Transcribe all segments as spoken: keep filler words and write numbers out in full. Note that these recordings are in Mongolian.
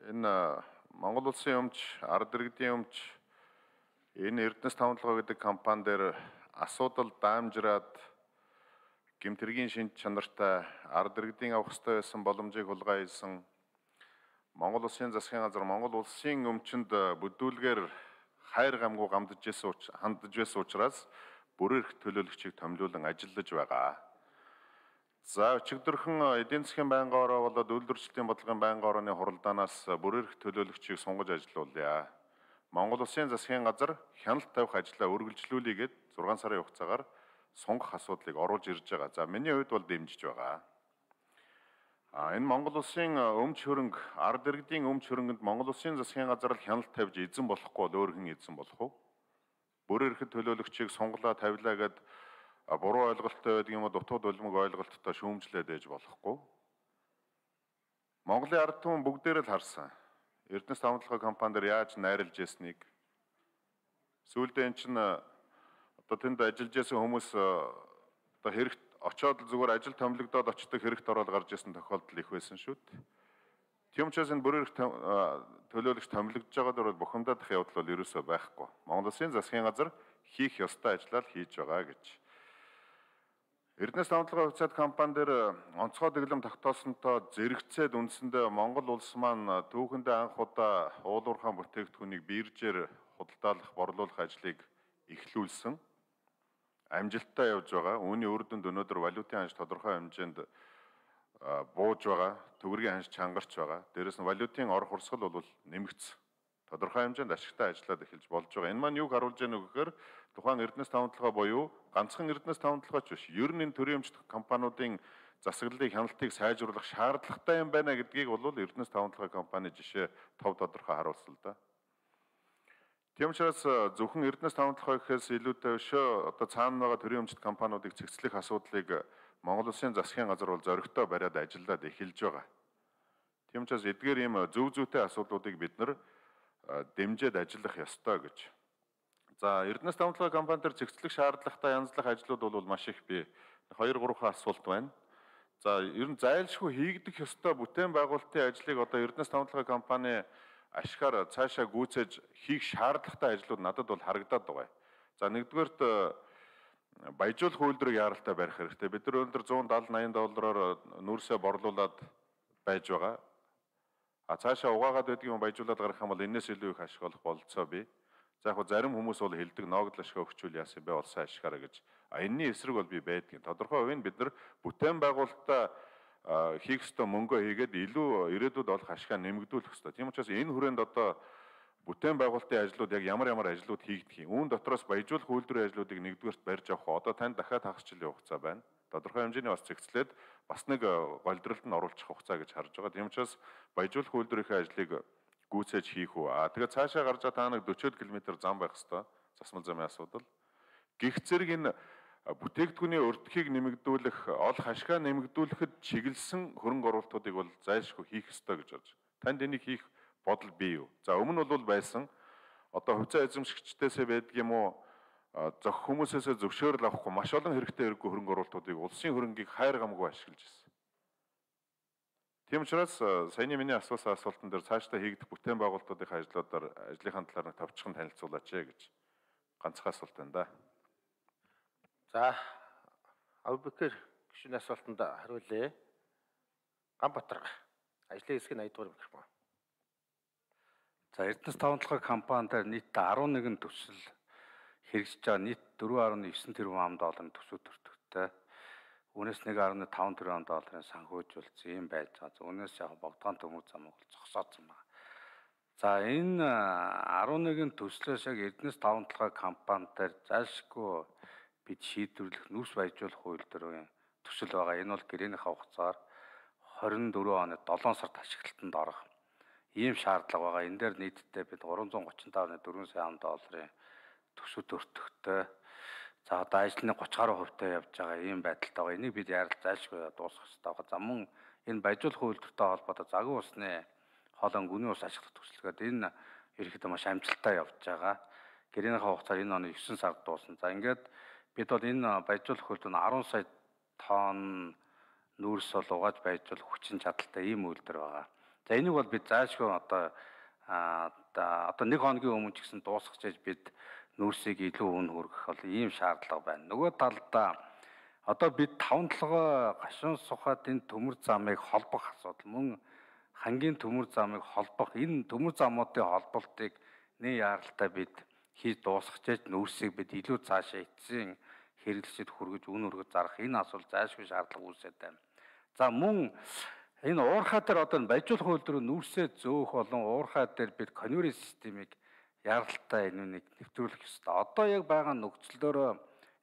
Энэ Монгол Улсын өмч, ард иргэдийн өмч энэ Эрдэнэс тавталгаа гэдэг компани дээр асуудал даамжраад гэмтэргийн шинж чанартай ард иргэдийн авах ёстой байсан боломжийг хулгай хийсэн Монгол Улсын засгийн газар Монгол Улсын өмчөнд бүдүүлгээр хайр гамгүй гамдж байсан хандж байсан учраас бүр эрх төлөөлөгчийг томилуулан ажиллаж байгаа. За өчигдөрхөн эдийн засгийн байнгын ороо болоод үйлдвэрчлэлийн бодлогын байнгын орооны хуралдаанаас бүр эрх төлөөлөгчийг сунгаж ажилуулъя. Монгол Улсын засгийн газар хяналт тавих ажлаа үргэлжлүүлээгээд зургаан сарын хугацаагаар сунгах асуудлыг оруулж ирж байгаа. За миний хувьд бол дэмжиж байгаа. А энэ Монгол Улсын өмч хөрөнгө, ард иргэдийн өмч хөрөнгөнд Монгол Улсын засгийн газар л хяналт тавьж эзэн болохгүй бол өөр хэн эзэн болох вэ? Бүр эрх төлөөлөгчийг сунглаа тавилаа гэд буруу ойлголттой байдаг юм уу, дутууд улмаг ойлголттой шүүмжлээд ээж болохгүй. Монголын ард түмэн бүгдээр л харсан. Эрдэнэс тавталгаа компанидэр яаж найрлж ясныг. Сүүлдээ эн чинь одоо тэнд ажиллаж байсан хүмүүс одоо хэрэгт очоод зүгээр ажил томилогдоод очдог хэрэгт ороод гарч ирсэн тохиолдол их байсан шүү дээ. Тийм учраас энэ бүр эрх төлөөлөгч томилогдож байгаа дөрөв бухимдах явдал бол ерөөсөө байхгүй. Монгол Улсын засгийн газар хийх ёстой ажлаа л хийж байгаа гэж. Эрдэнэс тавталгаа хувьцаат компани дээр онцгой дэглэм тогтоосонтой зэрэгцээд үндсэндээ Монгол улс маань түүхэндээ анх удаа уулуурхаан бүтээгдэхүүнийг биржээр худалдаалах, борлуулах ажлыг эхлүүлсэн. Амжилттай явж байгаа. Үүний үр дүнд өнөөдөр валютын ханш тодорхой хэмжээнд бууж байгаа. Төгрөгийн ханш чангарч байгаа. Дээрээс нь валютын ор хурсгал бол нэмэгдсэн. Тодорхой хэмжээнд ашигтай ажиллаад эхэлж болж байгаа. Энэ маань юг харуулж байна вэ гэхээр тухайн Эрдэнэс тавталгаа буюу ганцхан Эрдэнэс тавталгаач биш. Ер нь энэ төрийн өмч компаниудын засаглалыг, хяналтыг сайжруулах шаардлагатай юм байна гэдгийг бол Эрдэнэс тавталгаа компани жишээ тов тодорхой харуулсан л да. Тийм учраас зөвхөн Эрдэнэс тавталгаа гэхээс илүүтэй өшөө одоо цаана байгаа төрийн өмчт компаниудыг цэгцлэх асуудлыг Монгол Улсын засгийн газар бол зоригтой бариад ажиллаад эхэлж байгаа. Тийм учраас эдгээр ийм зөв зүйтэй асуудлуудыг бид нар дэмжиж ажиллах ёстой гэж. За Эрдэнэс тавталгаа компани дээр цэгцлэх шаардлагатай янзлах ажлууд бол маш их бий. хоёр гурван асуулт байна. За ер нь зайлшгүй хийгдэх ёстой бүтээн байгуулалтын ажлыг одоо Эрдэнэс тавталгаа компани ашигаар цаашаа гүйцээж хийх шаардлагатай ажлууд надад бол харагдаад байгаа. За нэгдүгээрт баяжуулах үйлдвэрийг яаралтай барих хэрэгтэй. Бид нар өнөөдөр зуун даатал наян доллараар нүүрсээ борлуулад байж байгаа. А цаашаа угаагаад байдаг юм баяжуулаад гарах юм бол энэс илүү их ашиг олох болцоо бий. За яг зарим хүмүүс бол хэлдэг ноогдол ашиг өгчүүл яасан бэ олсон ашигаараа гэж. А энэний эсрэг бол би байдгийн. Тодорхой хувийн бид нар бүтээн байгуулалтаа хийх ёстой мөнгөө хийгээд илүү ирээдүйд олох ашигаа нэмэгдүүлэх ёстой. Тийм учраас энэ хүрээнд одоо бүтээн байгуулалтын ажлууд яг ямар ямар ажлууд хийгдэх юм. Үүн дотроос баяжуулах үйлдвэрийн ажлуудыг нэгдүгээрт барьж авах. Одоо тань дахиад хагас жилийн хугацаа байна. Тодорхой хэмжээний бас цэгцлээд бас нэг голдролд нь оруулах хугацаа гэж харж байгаа. Тийм учраас баяжуулах үйлдвэрийн ажлыг гүйцээж хийх үү. А тэгээд цаашаа гарч байгаа та нэг дөрвөн километр зам байх хэвээр засмал замын асуудал. Гэх зэрэг энэ бүтээгдэхүүний өртгийг нэмэгдүүлэх, олох ашгаа нэмэгдүүлэхэд чиглэсэн хөрөнгө оруулалтуудыг бол зайлшгүй хийх ёстой гэж бодож. Танд энийг хийх бодол бий юу? За өмнө нь бол байсан. Одоо хувьцаа эзэмшигчдээсээ байдаг юм уу? Зөх хүмүүсээсээ зөвшөөрөл авахгүй маш олон хэрэгтэй хэрэггүй хөрөнгө оруулалтуудыг улсын хөрөнгийг хайр гамгүй ашиглаж байна. Тийм учраас саяны миний асуусан асуултан дээр цаашдаа хийгдэх бүтээн байгуулалтуудын ажлуудаар ажлынхаа талаар нэг товчхон танилцуулаач гэж ганцхан асуулт байна да. За Авбекер гишүүний асуултанд хариулъя. Ганбатар ажлын хэсгийн аяд дугаар микрофон. За Эрдэнэс тавталгаа компани дээр нийт арван нэгэн төсөл хэрэгжиж байгаа нийт дөрвөн арван девять тэрбум ам долларын төсөв төртөгтэй. Үүнээс нэг арван таван тэрбум долларын санхүүжүүлсэн юм байж байгаа. Үүнээс яг богдгоон төмөр замыг зогсооцсон байна. За энэ арван нэгэн төслөөс яг Эрдэнэс тавталгаа компани дээр зайлшгүй бид шийдвэрлэх нүс баяжуулах үйлдвэрийн төсөл байгаа. Энэ бол гэрээнийхээ хугацаар хорин дөрвөн оны долоон сард ашиглалтанд орох ийм шаардлага байгаа. Энэ дээр нийтдээ бид гурван зуун гучин тавын дөрвөн сая ам долларын төсөв төртөгтэй. За одоо ажлын гуравч гаруй хувьтай явж байгаа ийм байдалтай байгаа. Энийг бид яарал зайлшгүй дуусгах хэрэгтэй байгаа. За мөн энэ баяжуулах үйлдвэртэй холбоотой загвар усны хоолойн гүний ус ашиглах төсөлгээд энэ ерөнхийдөө маш амжилттай явж байгаа. Гэрээнийхээ хугацаар энэ оны девять сард дуусна. За ингээд бид бол энэ баяжуулах үйлдвэр арван сая тонн нүүрс бол угааж баяжуулах хүчин чадалтай ийм үйлдвэр байгаа. За энийг бол бид заашгүй одоо а одоо нэг хоногийн өмнө ч гэсэн дуусгах гэж бид нүүрсийг илүү өн хүргэх бол ийм шаардлага байна. Нөгөө талдаа одоо бид таван толгой гашуун сухад энэ төмөр замыг холбох асуудал мөн хамгийн төмөр замыг холбох энэ төмөр замуудын холболтыг нэг яаралтай бид хийж дуусгах гэж нүүрсийг бид илүү цаашаа эцсийн хэрэглэшид хүргэж үн өргөж зарах энэ асуудал заашгүй шаардлага үүсээд байна. За мөн энэ уурхай дээр одоо баяжуулах хууль дээр нүүрсээ зөөх болон уурхай дээр бид конвейер системийг яралтай энэ нэг нэвтрүүлэх ёстой. Одоо яг байгаа нөхцөлөөр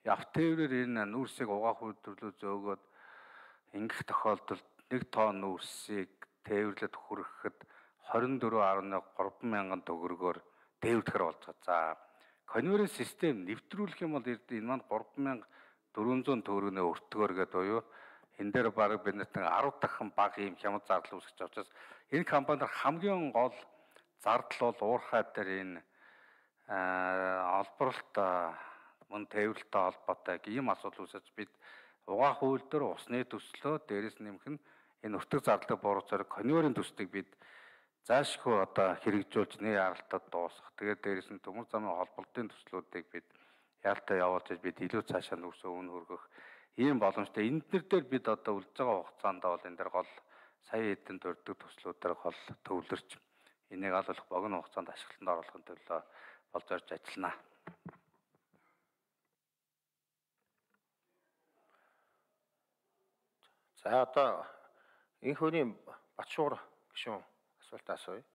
явт тээврээр энэ нүүрсийг угаах үйлдвэрлэлөө зөөгөөд ингэх тохиолдолд нэг тонн нүүрсийг тээвэрлээд хүрэхэд хорин дөрвөн гаруй гурван мянган төгрөгөөр тээвэрлэхэр болж байгаа. За конвейер систем нэвтрүүлэх юм бол энэ маань гурван мянга дөрвөн зуун төгрөгнөө өртгөөр гэдэг буюу энэ дээр бараг биднээс арав дахин бага юм хямд зардал үүсгэж байгаа учраас энэ компанид хамгийн гол зардал бол уурхай дээр энэ олборлолт мөн тээвэрлэлтэй холбоотой ийм асуудал үүсэж бид угаах үйлдвэр усны төслөө дээрээс нэмэх нь энэ өртөг зардлыг бууруулахаар конвейерийн төслийг бид заашгүй одоо хэрэгжүүлж нэг яралтад дуусгах. Тэгээд дээрээс нь төмөр замын холболтын төслүүдийг бид яалтаа явуулж бид илүү цаашаа нүүрсөө үн хөргөх ийм боломжтой. Энд дээр бид одоо үлдэж байгаа хугацаанд бол энэ дээр гол сая хэдэн дурддаг төслүүдээр гол төвлөрч энийг алуулах богино хугацаанд ашиглалтанд оруулахын төлөө болж орж ажиллана. За одоо энэ хүний Батшуур гишүүн асуултаа асууя.